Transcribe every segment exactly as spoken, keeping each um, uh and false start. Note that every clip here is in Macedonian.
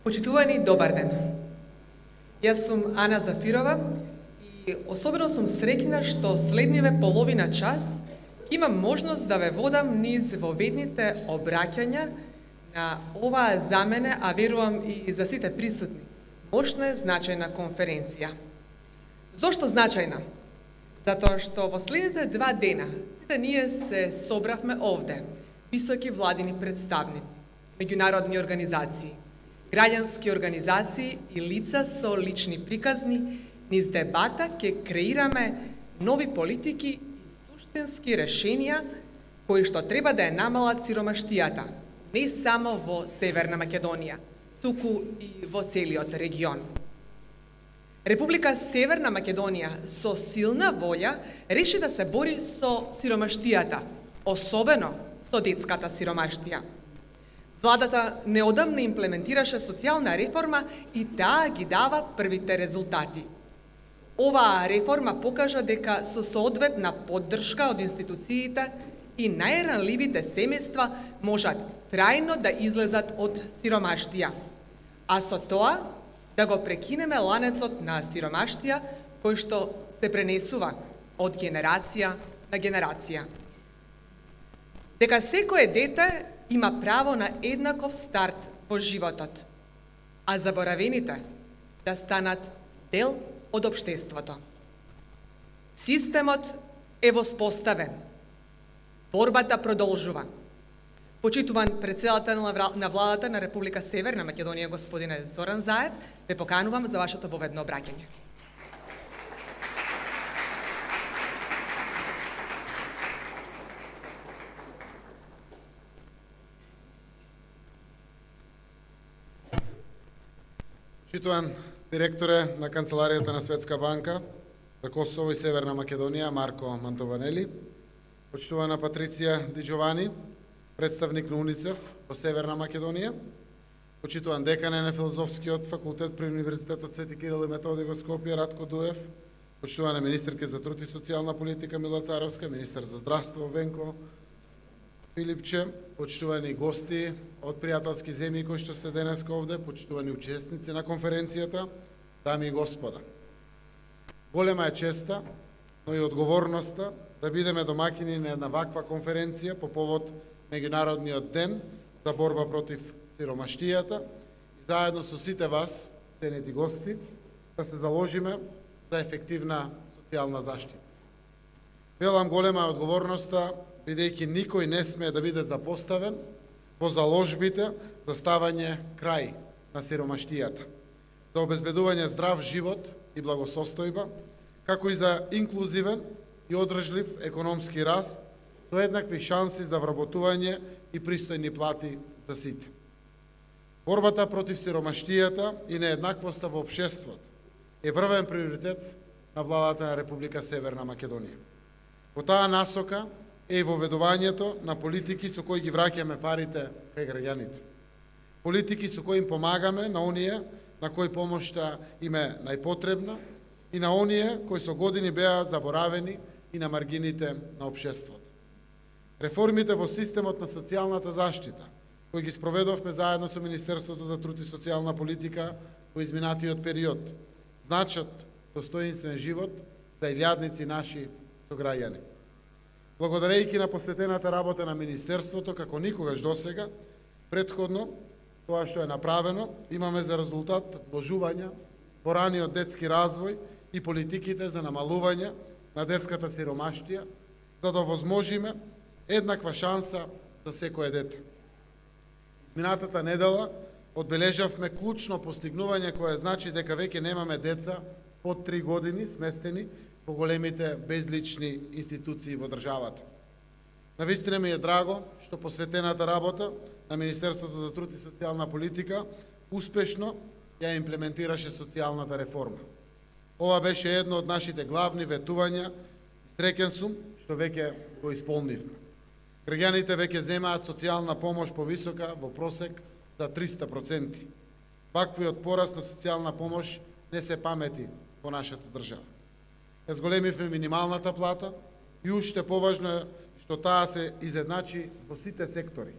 Почитувани, добар ден. Јас сум Ана Зафирова и особено сум среќна што следниве половина час имам можност да ве водам низ воведните обраќања на оваа за мене, а верувам и за сите присутни, мощна и значајна конференција. Зошто значајна? Затоа што во следните два дена сите ние се собравме овде, високи владини представници, меѓународни организации, граѓански организации и лица со лични приказни, низ дебата ќе креираме нови политики и суштински решенија кои што треба да ја намалат сиромаштијата, не само во Северна Македонија, туку и во целиот регион. Република Северна Македонија со силна волја реши да се бори со сиромаштијата, особено со детската сиромаштија. Владата неодамна имплементираше социјална реформа и таа ги дава првите резултати. Оваа реформа покажа дека со соодветна поддршка од институциите и најранливите семејства можат трајно да излезат од сиромаштија, а со тоа да го прекинеме ланецот на сиромаштија кој што се пренесува од генерација на генерација. Дека секое дете има право на еднаков старт во животот, а заборавените да станат дел од општеството. Системот е воспоставен. Борбата продолжува. Почитуван претседател на владата на Република Северна Македонија, господине Зоран Заев, ве поканувам за вашето воведно обраќање. Почитуван директоре на Канцеларијата на Светска банка за Косово и Северна Македонија Марко Мантованели, почитувана Патриција Ди Джовани, представник на УНИЦЕФ во Северна Македонија, почитуван декане на Филозофскиот факултет при Универзитетот Свети Кирил и Методи во Скопје Ратко Дуев, почитувана министерка за труд и социјална политика Мила Царовска, министер за здравство Венко Филипче, почитувани гости од пријателски земји кои што сте денеска овде, почитувани учесници на конференцијата, дами и господа. Голема е честа, но и одговорноста да бидеме домаќини на една ваква конференција по повод Меѓународниот ден за борба против сиромаштијата и заедно со сите вас, ценети гости, да се заложиме за ефективна социјална заштита. Велам, голема е одговорноста, бидејќи никој не смее да биде запоставен во заложбите за ставање крај на сиромаштијата, за обезбедување здрав живот и благосостојба, како и за инклузивен и одржлив економски раст со еднакви шанси за вработување и пристојни плати за сите. Борбата против сиромаштијата и нееднаквоста во општеството е првен приоритет на владата на Република Северна Македонија. Во таа насока е и воведувањето на политики со кои ги враќаме парите кај граѓаните. Политики со кои им помагаме на оние на кои помошта им е најпотребна и на оние кои со години беа заборавени и на маргините на општеството. Реформите во системот на социјалната заштита, кои ги спроведовме заедно со Министерството за труд и социјална политика во изминатиот период, значат достоинствен живот за илјадници наши сограѓани. Благодарејќи на посветената работа на Министерството, како никогаш досега, претходно, тоа што е направено, имаме за резултат вложувања во раниот детски развој и политиките за намалување на детската сиромаштија, за да овозможиме еднаква шанса за секое дете. Минатата недела одбележавме клучно постигнување кое значи дека веќе немаме деца под три години сместени по големите безлични институции во државата. Навистина ми е драго што посветената работа на Министерството за труд и социјална политика успешно ја имплементираше социјалната реформа. Ова беше едно од нашите главни ветувања и среќен сум што веќе го исполнивме. Граѓаните веќе земаат социјална помош повисока во просек за триста проценти. Ваквиот пораст на социјална помош не се памети во нашата држава. Ја зголемивме минималната плата и уште поважно е што таа се изедначи во сите сектори.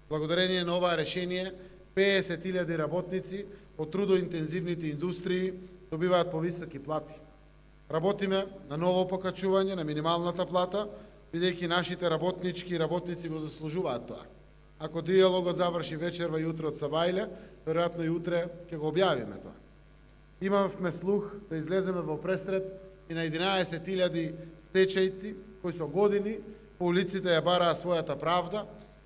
Благодарение на оваа решение, песет илјади работници од трудоинтензивните индустрии добиваат повисоки плати. Работиме на ново покачување на минималната плата, бидејќи нашите работнички и работници го заслужуваат тоа. Ако диалогот заврши вечерва и утре од Сабајле, веројатно и утре ќе го објавиме тоа. Имавме слух да излеземе во пресрет и на единаесет илјади стечајци кои со години по улиците ја бараа својата правда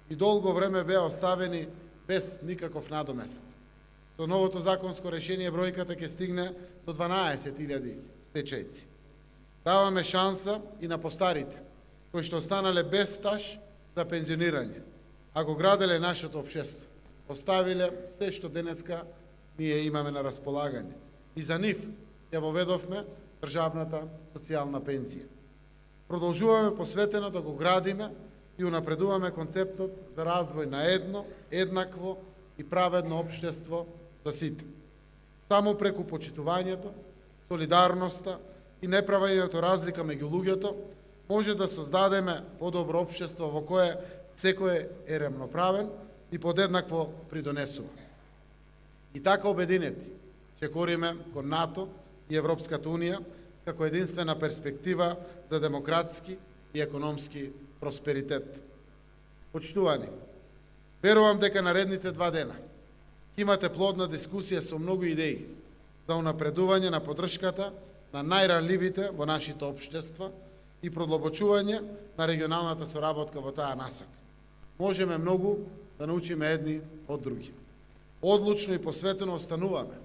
и долго време беа оставени без никаков надомест. Со новото законско решение бројката ќе стигне до дванаесет илјади стечајци. Даваме шанса и на постарите, кои што останале без стаж за пензионирање, а го граделе нашето општество. Оставиле се што денеска ние имаме на располагање. И за нив ја воведовме државната социјална пензија. Продолжуваме посветено да го градиме и унапредуваме концептот за развој на едно, еднакво и праведно општество за сите. Само преку почитувањето, солидарноста и неправењето разлика меѓу луѓето може да создадеме подобро општество во кое секој е равноправен и подеднакво придонесува. И така обединети ќе кориме кон НАТО и Европската Унија како единствена перспектива за демократски и економски просперитет. Почитувани, верувам дека наредните два дена ќе имате плодна дискусија со многу идеи за унапредување на поддршката на најранливите во нашите општества и продлабочување на регионалната соработка во таа насока. Можеме многу да научиме едни од други. Одлучно и посветено остануваме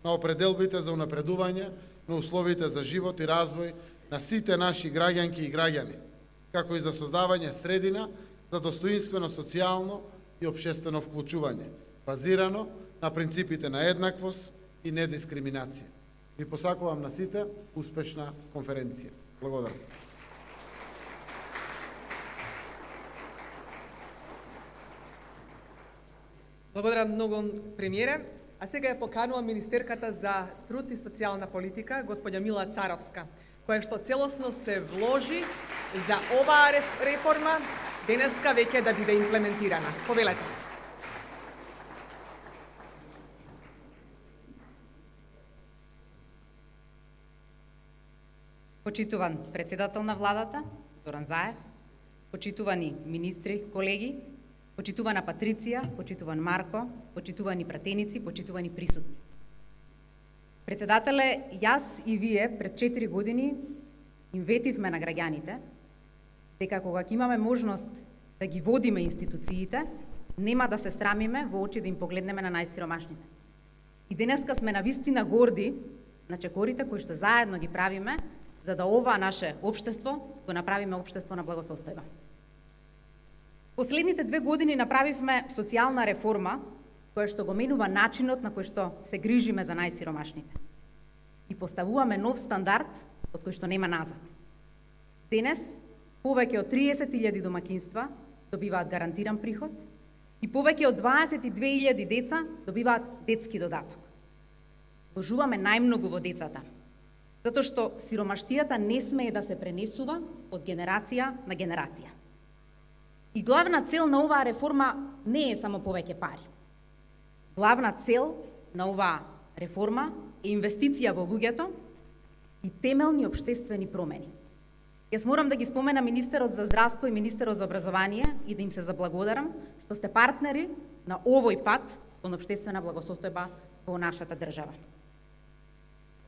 на определбите за унапредување на условите за живот и развој на сите наши граѓанки и граѓани, како и за создавање средина за достоинствено социјално и општествено вклучување, базирано на принципите на еднаквост и недискриминација. Ви посакувам на сите успешна конференција. Благодарам. Благодарам многу, премиере. А сега ја поканувам министерката за труд и социјална политика, господја Мила Царовска, која што целосно се вложи за оваа реформа денеска веќе да биде имплементирана. Повелете. Почитуван председател на владата, Зоран Заев, почитувани министри, колеги, почитувана Патриција, почитуван Марко, почитувани пратеници, почитувани присутни. Председателе, јас и вие пред четири години им ветивме на граѓаните дека кога ќе имаме можност да ги водиме институциите, нема да се срамиме во очи да им погледнеме на најсиромашните. И денеска сме навистина горди на чекорите кои што заедно ги правиме за да ова наше општество го направиме општество на благосостојба. Последните две години направивме социјална реформа која што го менува начинот на кој што се грижиме за најсиромашните. И поставуваме нов стандард од кој што нема назад. Денес повеќе од триесет илјади домаќинства добиваат гарантиран приход и повеќе од дваесет и две илјади деца добиваат детски додаток. Вложуваме најмногу во децата, затоа што сиромаштијата не смее да се пренесува од генерација на генерација. И главна цел на оваа реформа не е само повеќе пари. Главна цел на оваа реформа е инвестиција во луѓето и темелни општествени промени. Јас морам да ги спомена министерот за здравство и министерот за образование и да им се заблагодарам што сте партнери на овој пат кон општествена благосостојба во нашата држава.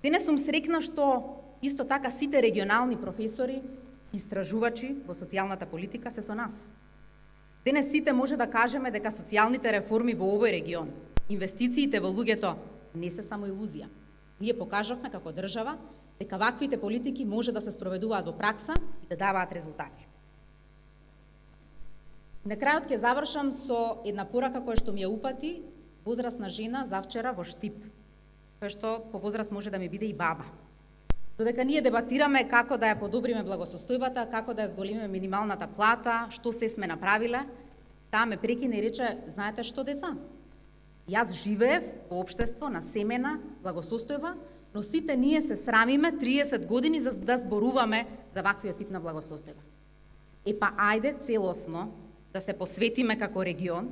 Денес сум среќна што исто така сите регионални професори, истражувачи во социјалната политика се со нас. Денес сите може да кажеме дека социјалните реформи во овој регион, инвестициите во луѓето не се само илузија. Ние покажавме како држава дека ваквите политики може да се спроведуваат во пракса и да даваат резултати. На крајот ќе завршам со една порака која што ми ја упати возрасна жена завчера во Штип, која што по возраст може да ми биде и баба. Додека ние дебатираме како да ја подобриме благосостојбата, како да ја зголемиме минималната плата, што се сме направиле, таа ме прекина и рече: знаете што, деца? Јас живеев во општество на семена благосостојба, но сите ние се срамиме триесет години за да зборуваме за ваквиот тип на благосостојба. Е па ајде целосно да се посветиме како регион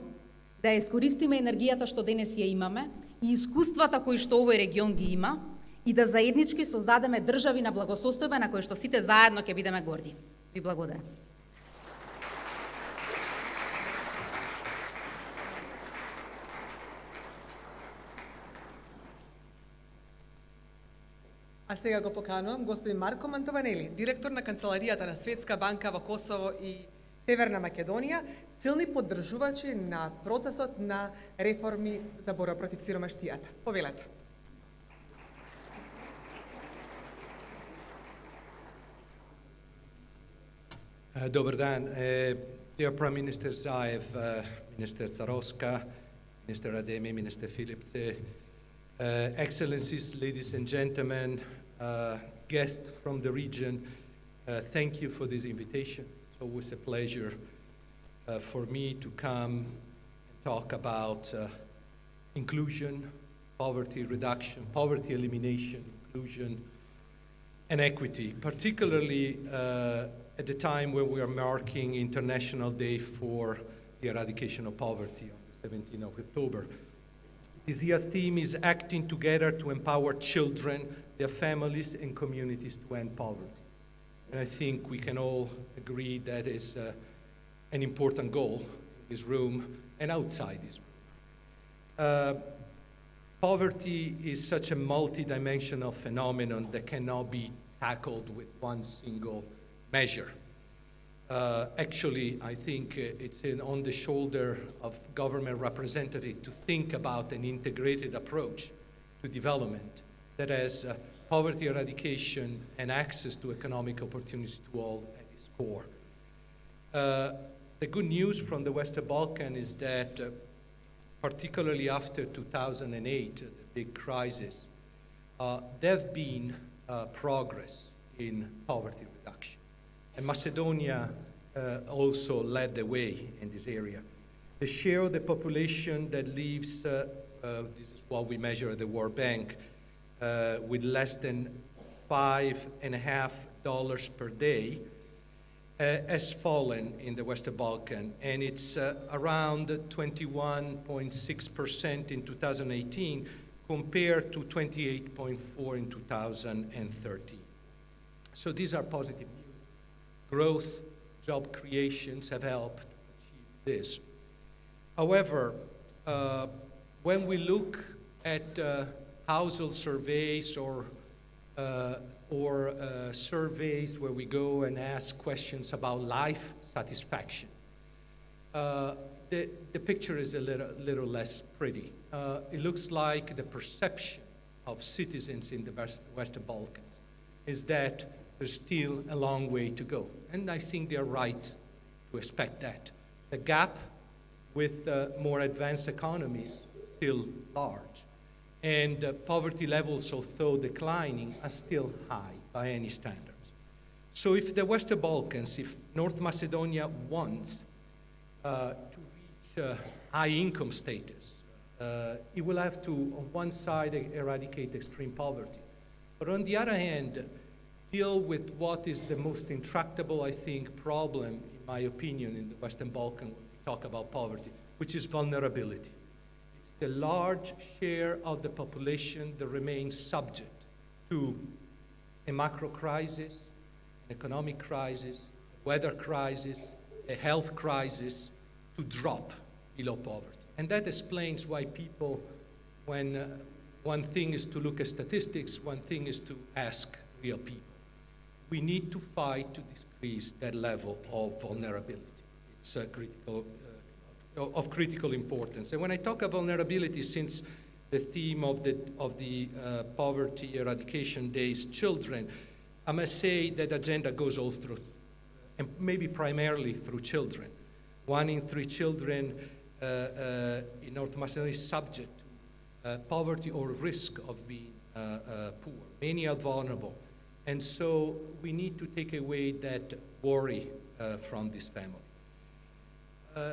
да ја искористиме енергијата што денес ја имаме и искуствата кои што овој регион ги има и да заеднички создадеме држави на благосостојба на кои што сите заедно ќе бидеме горди. Ви благодарам. А сега го поканувам господин Марко Мантованели, директор на Канцеларијата на Светска банка во Косово и Северна Македонија, силни поддржувачи на процесот на реформи за борба против сиромаштијата. Повелете. Uh, Dobar dan. Uh, dear Prime Minister Zaev, uh, Minister Zaroska, Minister Ademi, Minister Philips, uh, Excellencies, ladies and gentlemen, uh, guests from the region, uh, thank you for this invitation. It's always a pleasure uh, for me to come and talk about uh, inclusion, poverty reduction, poverty elimination, inclusion, and equity, particularly uh, at the time when we are marking International Day for the Eradication of Poverty on the seventeenth of October. This year's theme is acting together to empower children, their families, and communities to end poverty. And I think we can all agree that is uh, an important goal in this room and outside this room. Uh, poverty is such a multidimensional phenomenon that cannot be tackled with one single measure. Uh, actually, I think uh, it's in, on the shoulder of government representatives to think about an integrated approach to development that has uh, poverty eradication and access to economic opportunities to all at its core. Uh, the good news from the Western Balkans is that, uh, particularly after two thousand eight, uh, the big crisis, uh, there have been uh, progress in poverty reduction. And Macedonia uh, also led the way in this area. The share of the population that lives, uh, uh, this is what we measure at the World Bank, uh, with less than five and a half dollars per day, uh, has fallen in the Western Balkans, and it's uh, around twenty-one point six percent in two thousand eighteen compared to twenty-eight point four in two thousand thirteen. So these are positive news. Growth, job creations have helped achieve this. However, uh, when we look at uh, household surveys or, uh, or uh, surveys where we go and ask questions about life satisfaction, uh, the, the picture is a little, little less pretty. Uh, it looks like the perception of citizens in the West, Western Balkans is that there's still a long way to go. And I think they're right to expect that. The gap with uh, more advanced economies is still large. And uh, poverty levels, although declining, are still high by any standards. So if the Western Balkans, if North Macedonia wants uh, to reach uh, high income status, uh, it will have to, on one side, eradicate extreme poverty. But on the other hand, deal with what is the most intractable, I think, problem, in my opinion, in the Western Balkans when we talk about poverty, which is vulnerability. It's the large share of the population that remains subject to a macro crisis, an economic crisis, a weather crisis, a health crisis, to drop below poverty. And that explains why people, when uh, one thing is to look at statistics, one thing is to ask real people. We need to fight to decrease that level of vulnerability. It's uh, critical, uh, of critical importance. And when I talk about vulnerability, since the theme of the, of the uh, Poverty Eradication Day is children, I must say that agenda goes all through, and maybe primarily through children. One in three children uh, uh, in North Macedonia is subject to uh, poverty or risk of being uh, uh, poor. Many are vulnerable. And so we need to take away that worry uh, from this family. Uh,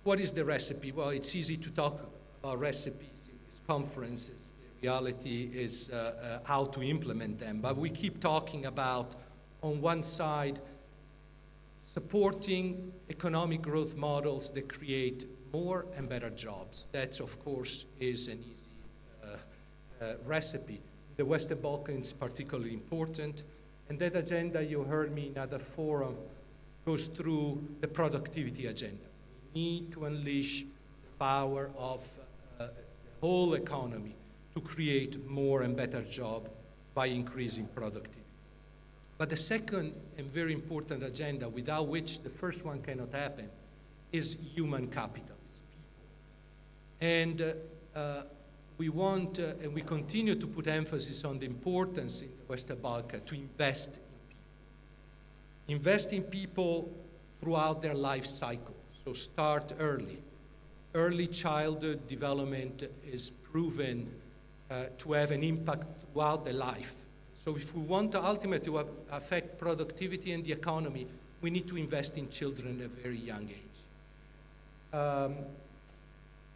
what is the recipe? Well, it's easy to talk about recipes in these conferences. The reality is uh, uh, how to implement them. But we keep talking about, on one side, supporting economic growth models that create more and better jobs. That, of course, is an easy uh, uh, recipe. The Western Balkans is particularly important, and that agenda, you heard me in other forum, goes through the productivity agenda. We need to unleash the power of uh, the whole economy to create more and better jobs by increasing productivity. But the second and very important agenda, without which the first one cannot happen, is human capital, it's people. And uh, uh, we want, uh, and we continue to put emphasis on the importance in the Western Balkans to invest in people. Invest in people throughout their life cycle, so start early. Early childhood development is proven uh, to have an impact throughout the life. So if we want to ultimately affect productivity and the economy, we need to invest in children at a very young age. Um,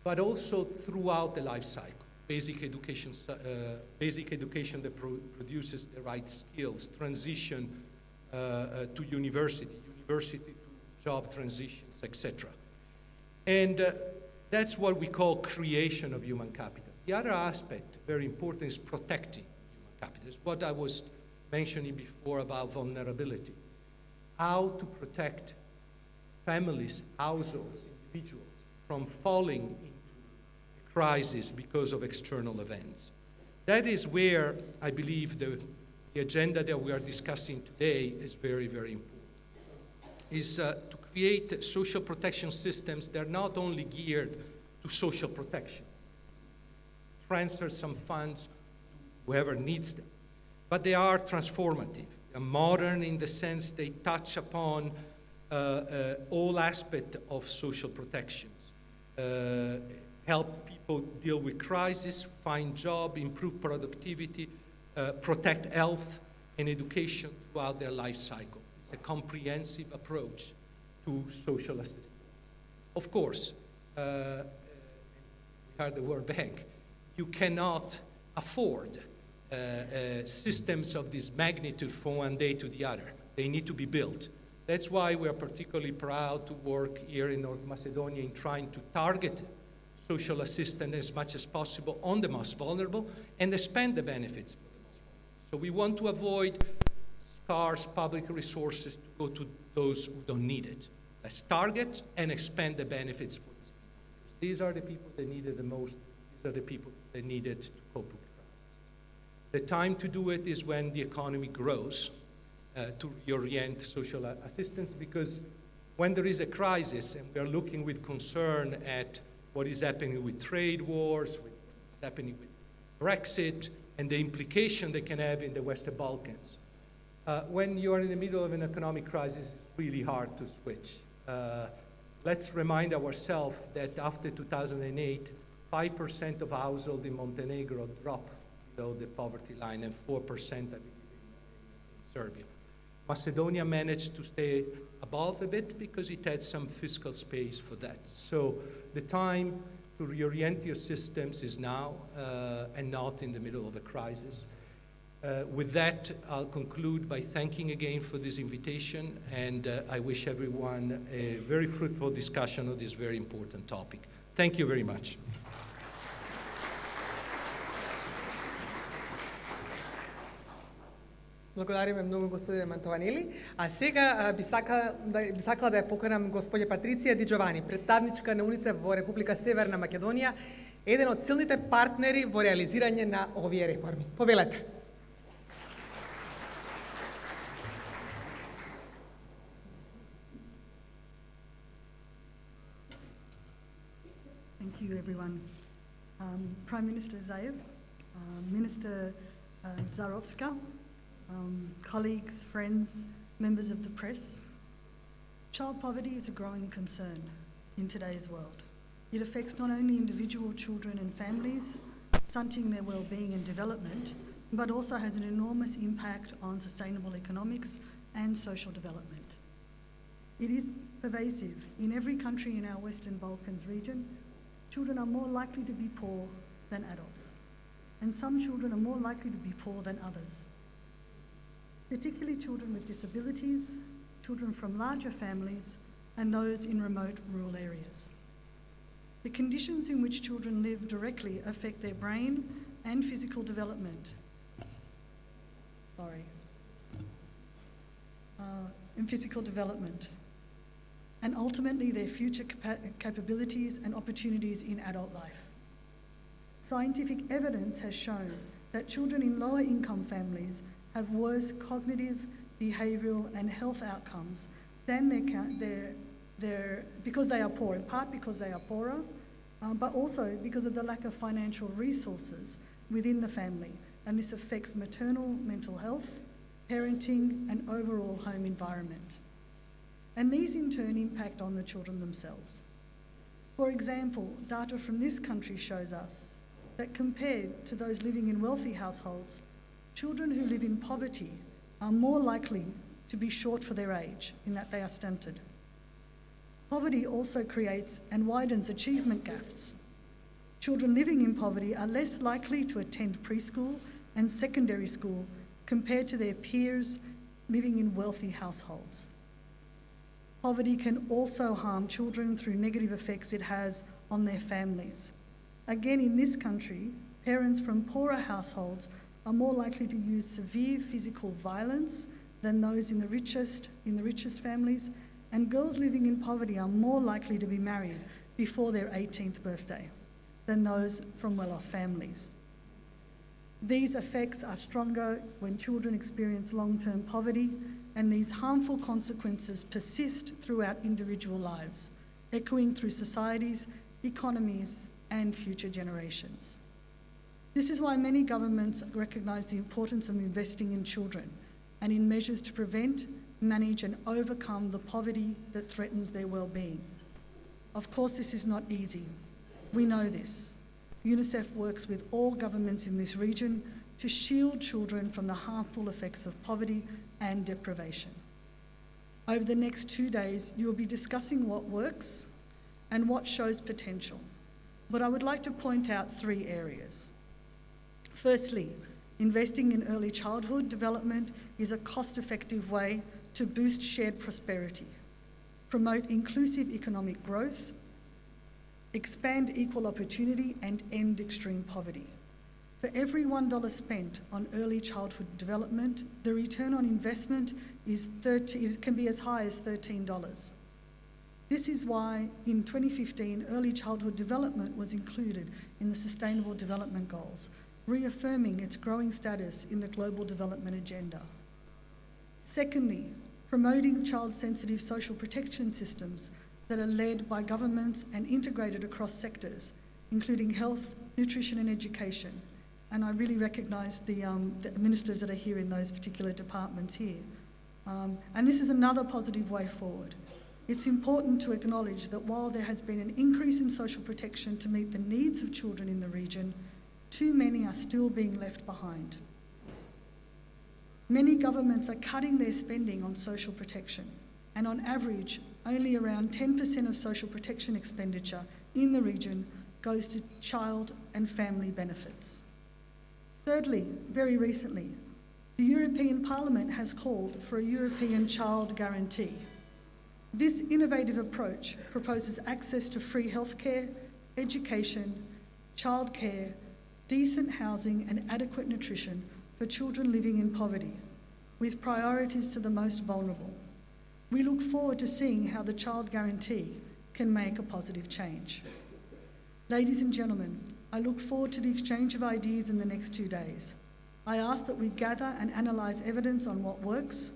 but also throughout the life cycle. Basic education, uh, basic education that pro produces the right skills, transition uh, uh, to university, university to job transitions, et cetera. And uh, that's what we call creation of human capital. The other aspect, very important, is protecting human capital. It's what I was mentioning before about vulnerability. How to protect families, households, individuals from falling into crisis because of external events. That is where I believe the, the agenda that we are discussing today is very, very important. Is uh, to create social protection systems that are not only geared to social protection, transfer some funds to whoever needs them, but they are transformative. They are modern in the sense they touch upon uh, uh, all aspects of social protections, uh, help people deal with crisis, find job, improve productivity, uh, protect health and education throughout their life cycle. It's a comprehensive approach to social assistance. Of course, uh, we heard the word bank. You cannot afford uh, uh, systems of this magnitude from one day to the other. They need to be built. That's why we are particularly proud to work here in North Macedonia in trying to target social assistance as much as possible on the most vulnerable and expand the benefits for the most vulnerable. So we want to avoid scarce public resources to go to those who don't need it. Let's target and expand the benefits for these people. These are the people that need it the most. These are the people that need it to cope with crises. The time to do it is when the economy grows, uh, to reorient social assistance, because when there is a crisis and we are looking with concern at what is happening with trade wars, what's happening with Brexit, and the implication they can have in the Western Balkans. Uh, when you are in the middle of an economic crisis, it's really hard to switch. Uh, let's remind ourselves that after two thousand eight, five percent of households in Montenegro dropped below the poverty line, and four percent I believe, in Serbia. Macedonia managed to stay above a bit because it had some fiscal space for that. So the time to reorient your systems is now uh, and not in the middle of a crisis. Uh, with that, I'll conclude by thanking again for this invitation, and uh, I wish everyone a very fruitful discussion of this very important topic. Thank you very much. Благодариме многу, господине Мантованели. А сега би, сака, да, би сакала да ја поканам господја Патриција Ди Джовани, представничка на УНИЦЕФ во Република Северна Македонија, еден од силните партнери во реализирање на овие реформи. Повелете. Thank you, everyone. Um, Prime Minister Zaev, uh, Minister uh, Zarovska, Um, colleagues, friends, members of the press, child poverty is a growing concern in today's world. It affects not only individual children and families, stunting their well-being and development, but also has an enormous impact on sustainable economics and social development. It is pervasive. In every country in our Western Balkans region, children are more likely to be poor than adults, and some children are more likely to be poor than others. Particularly children with disabilities, children from larger families, and those in remote rural areas. The conditions in which children live directly affect their brain and physical development. Sorry. Uh, and physical development. And ultimately their future capa capabilities and opportunities in adult life. Scientific evidence has shown that children in lower income families have worse cognitive, behavioural and health outcomes than their, their, their, because they are poor, in part because they are poorer, um, but also because of the lack of financial resources within the family. And this affects maternal mental health, parenting and overall home environment. And these in turn impact on the children themselves. For example, data from this country shows us that compared to those living in wealthy households, children who live in poverty are more likely to be short for their age in that they are stunted. Poverty also creates and widens achievement gaps. Children living in poverty are less likely to attend preschool and secondary school compared to their peers living in wealthy households. Poverty can also harm children through negative effects it has on their families. Again, in this country, parents from poorer households are more likely to use severe physical violence than those in the richest, in the richest families, and girls living in poverty are more likely to be married before their eighteenth birthday than those from well-off families. These effects are stronger when children experience long-term poverty, and these harmful consequences persist throughout individual lives, echoing through societies, economies, and future generations. This is why many governments recognise the importance of investing in children and in measures to prevent, manage and overcome the poverty that threatens their well-being. Of course, this is not easy. We know this. UNICEF works with all governments in this region to shield children from the harmful effects of poverty and deprivation. Over the next two days, you will be discussing what works and what shows potential. But I would like to point out three areas. Firstly, investing in early childhood development is a cost-effective way to boost shared prosperity, promote inclusive economic growth, expand equal opportunity and end extreme poverty. For every one dollar spent on early childhood development, the return on investment is thirty, can be as high as thirteen dollars. This is why in twenty fifteen, early childhood development was included in the Sustainable Development Goals, reaffirming its growing status in the Global Development Agenda. Secondly, promoting child-sensitive social protection systems that are led by governments and integrated across sectors, including health, nutrition and education. And I really recognise the, um, the ministers that are here in those particular departments here. Um, and this is another positive way forward. It's important to acknowledge that while there has been an increase in social protection to meet the needs of children in the region, too many are still being left behind. Many governments are cutting their spending on social protection, and on average, only around ten percent of social protection expenditure in the region goes to child and family benefits. Thirdly, very recently, the European Parliament has called for a European Child Guarantee. This innovative approach proposes access to free healthcare, education, childcare, decent housing and adequate nutrition for children living in poverty, with priorities to the most vulnerable. We look forward to seeing how the Child Guarantee can make a positive change. Ladies and gentlemen, I look forward to the exchange of ideas in the next two days. I ask that we gather and analyse evidence on what works,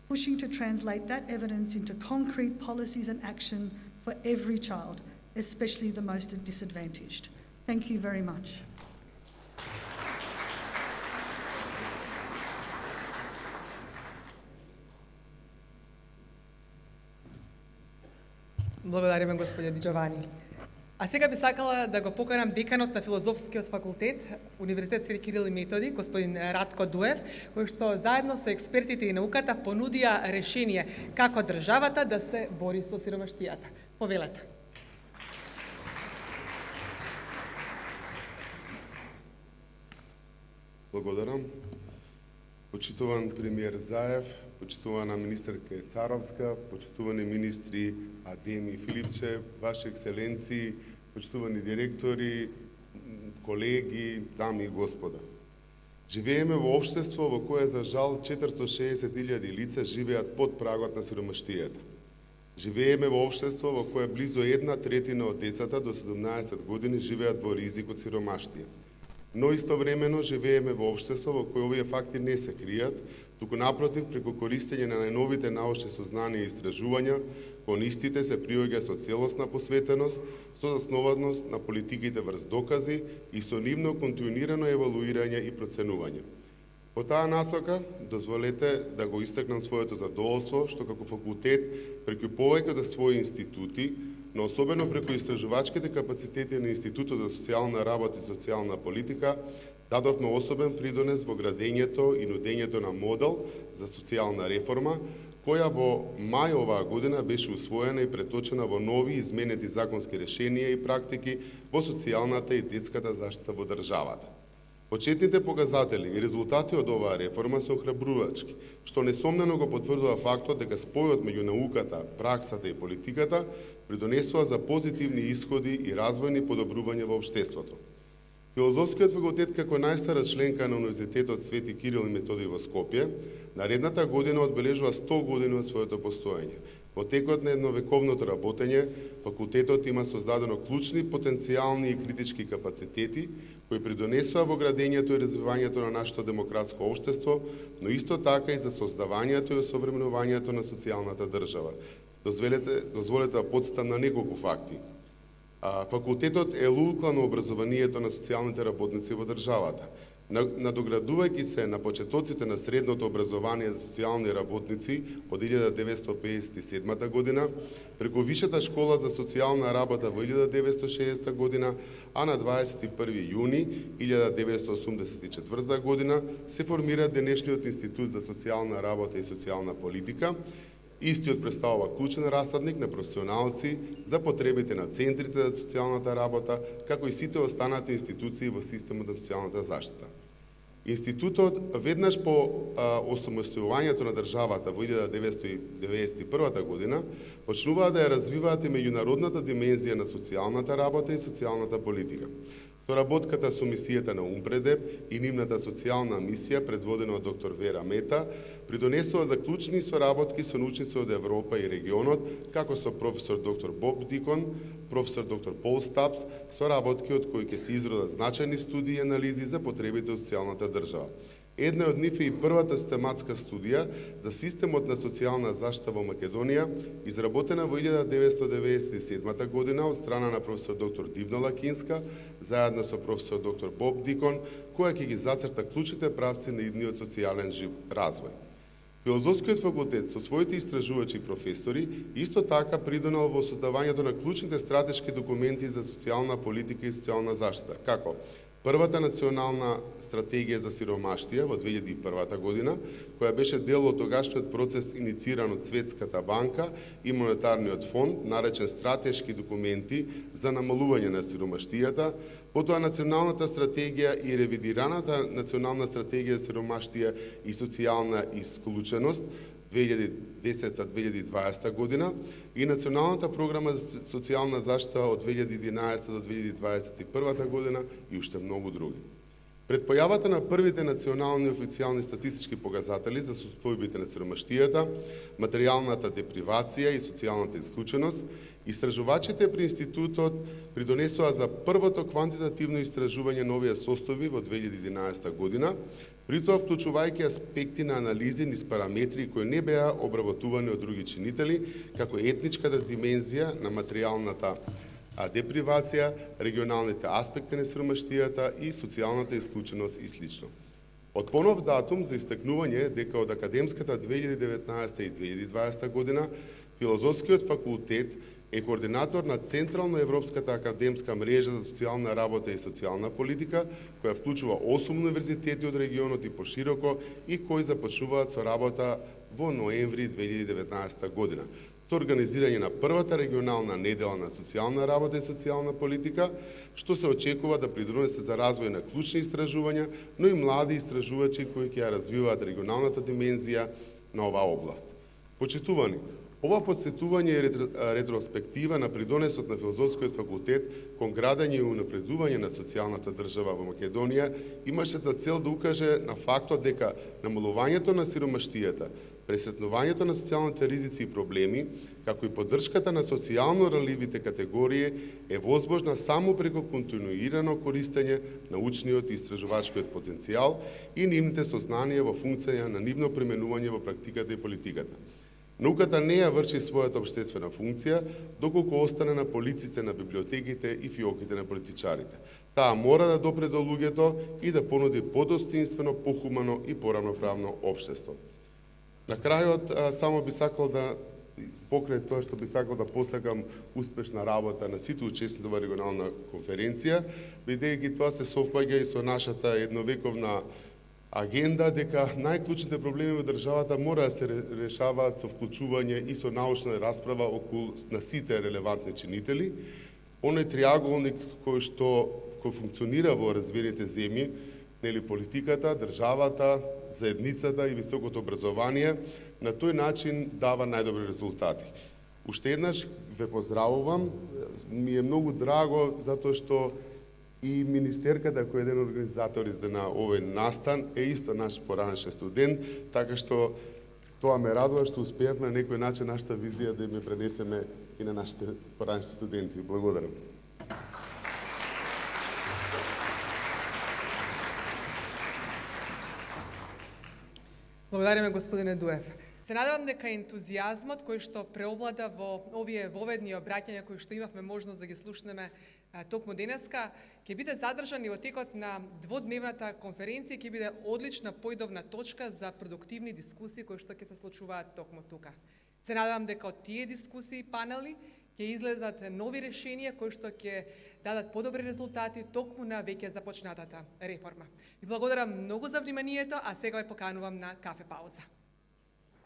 pushing to translate that evidence into concrete policies and action for every child, especially the most disadvantaged. Thank you very much. Благодариме, господје Диџовани. А сега би сакала да го поканам деканот на Филозофскиот факултет, Универзитет Свети Кирил и Методи, господин Радко Дуев, кој што заедно со експертите и науката понудија решение како државата да се бори со сиромаштијата. Повелете. Благодарам. Почитуван премиер Заев, почитувана министерка Царовска, почитувани министри Адеми и Филипче, Ваши екселенции, почитувани директори, колеги, дами и господа. Живееме во општество во кое за жал четиристотини и шесет илјади лица живеат под прагот на сиромаштијата. Живееме во општество во кое близу една третина од децата до седумнаесет години живеат во ризик од сиромаштија. Но истовремено живееме во општество во кое овие факти не се кријат, туку напротив, преку користење на најновите научни сознанија и истражувања, кон истите се приоѓа со целосна посветеност, со заснованост на политиките врз докази и со нивно континуирано евалуирање и проценување. По таа насока, дозволете да го истакнам своето задоволство, што како факултет, преку повеќето своји институти, но особено преку истражувачките капацитети на Институтот за социјална работа и социјална политика, дадовме особен придонес во градењето и нудењето на модел за социјална реформа, која во мај оваа година беше усвоена и преточена во нови изменети законски решенија и практики во социјалната и детската заштита во државата. Почетните показатели и резултати од оваа реформа се охрабрувачки, што несомнено го потврдува фактот дека спојот меѓу науката, праксата и политиката придонесува за позитивни исходи и развојни подобрувања во општеството. Филозофскиот факултет како најстара членка на Универзитетот Свети Кирил и Методиј во Скопје, наредната година одбележува сто години од своето постоење. Во текот на едновековното работење, факултетот има создадено клучни, потенцијални и критички капацитети, кои придонесува во градењето и развивањето на нашето демократско општество, но исто така и за создавањето и осовременувањето на социјалната држава. Дозволете, дозволете да потстам на неколку факти. Факултетот е лулка на образованието на социјалните работници во државата. Надоградувајќи се на почетоците на средното образование за социјални работници од илјада деветстотини педесет и седма година, преку Вишата школа за социјална работа во илјада деветстотини и шеесета година, а на дваесет и први јуни илјада деветстотини осумдесет и четврта година се формира денешниот Институт за социјална работа и социјална политика. Истиот представува клучен расадник на професионалци за потребите на центрите за социјалната работа, како и сите останати институции во системот на социјалната заштита. Институтот веднаш по осамостојувањето на државата во илјада деветстотини деветдесет и прва година почнуваа да ја развиваат и меѓународната димензија на социјалната работа и социјалната политика. Соработката со мисијата на Умпредеп и нивната социјална мисија, предводена од доктор Вера Мета, придонесува за клучни соработки со научници од Европа и регионот, како со професор доктор Боб Дикон, професор доктор Пол Стапс, соработки од кои ќе се изродат значајни студии и анализи за потребите од социјалната држава. Една од нив е и првата систематска студија за системот на социјална заштита во Македонија, изработена во илјада деветстотини деветдесет и седма година од страна на професор доктор Дивна Лакинска, заедно со професор доктор Боб Дикон, која ќе ги зацрта клучните правци на идниот социјален жив развој. Филозофскиот факултет со своите истражувачи и професори исто така придонел во создавањето на клучните стратешки документи за социјална политика и социјална заштита, како првата национална стратегија за сиромаштија во две илјади и прва година, која беше дел од тогашниот процес инициран од Светската банка и Монетарниот фонд, наречен стратешки документи за намалување на сиромаштијата, потоа националната стратегија и ревидираната национална стратегија за сиромаштија и социјална исклученост две илјади и десета до две илјади и дваесета година и националната програма за социјална заштита од две илјади и единаесета до две илјади дваесет и прва година и уште многу други. Пред појавата на првите национални официјални статистички показатели за состојбите на сиромаштијата, материјалната депривација и социјалната исклученост, истражувачите при институтот придонесоа за првото квантитативно истражување на овие состојби во две илјади и единаесета година, при тоа вклучувајќи аспекти на анализи низ параметри кои не беа обработувани од други чинители, како етничката димензија на материјалната депривација, регионалните аспекти на сиромаштијата и социјалната исклученост и слично. Од понов датум за истакнување дека од академската две илјади и деветнаесета и две илјади и дваесета година Филозофскиот факултет е координатор на Централно-Европската академска мрежа за социјална работа и социјална политика, која вклучува осум универзитети од регионот и пошироко и кои започнуваат со работа во ноември две илјади и деветнаесета година. Со организирање на првата регионална недела на социјална работа и социјална политика, што се очекува да придонесе за развој на клучни истражувања, но и млади истражувачи кои ќе ја развиваат регионалната димензија на оваа област. Почитувани, Ова подсетување е ретроспектива на придонесот на Филозофскиот факултет кон градење и унапредување на социјалната држава во Македонија имаше за цел да укаже на фактот дека намалувањето на сиромаштијата, пресетнувањето на социјалните ризици и проблеми, како и поддршката на социјално ранливите категории е возможна само преку континуирано користење на научниот и истражувачкиот потенцијал и нивните сознанија во функција на нивно применување во практиката и политиката. Науката не ја врши својата општествена функција, доколку остане на полиците на библиотеките и фиоките на политичарите. Таа мора да допре до луѓето и да понуди подостоинствено, похумано и поравноправно општество. На крајот, само би сакал да, покрај тоа што би сакал да посакам успешна работа на сите учесници во регионална конференција, бидејќи тоа се совпаѓа и со нашата едновековна агенда дека најклучните проблеми во државата мора да се решаваат со вклучување и со научна расправа околу на сите релевантни чинители. Оној триаголник кој што кој функционира во развиените земји, нели политиката, државата, заедницата и високото образование, на тој начин дава најдобри резултати. Уште еднаш ве поздравувам, ми е многу драго затоа што и министерката, кој е еден од организаторите на овој настан, е исто наш поранешен студент, така што тоа ме радува што успеавме на некој начин нашата визија да ја пренесеме и на нашите поранешни студенти. Благодарам. Благодариме, господине Дуев. Се надевам дека ентузијазмот кој што преовлада во овие воведни обраќања кои што имавме можност да ги слушнеме токму денеска, ќе биде задржан и во текот на дводневната конференција, ќе биде одлична појдовна точка за продуктивни дискусии кои што ќе се случуваат токму тука. Се надевам дека од тие дискусии и панели ќе излезат нови решенија кои што ќе дадат подобри резултати токму на веќе започнатата реформа. Ви благодарам многу за вниманието, а сега ве поканувам на кафе пауза.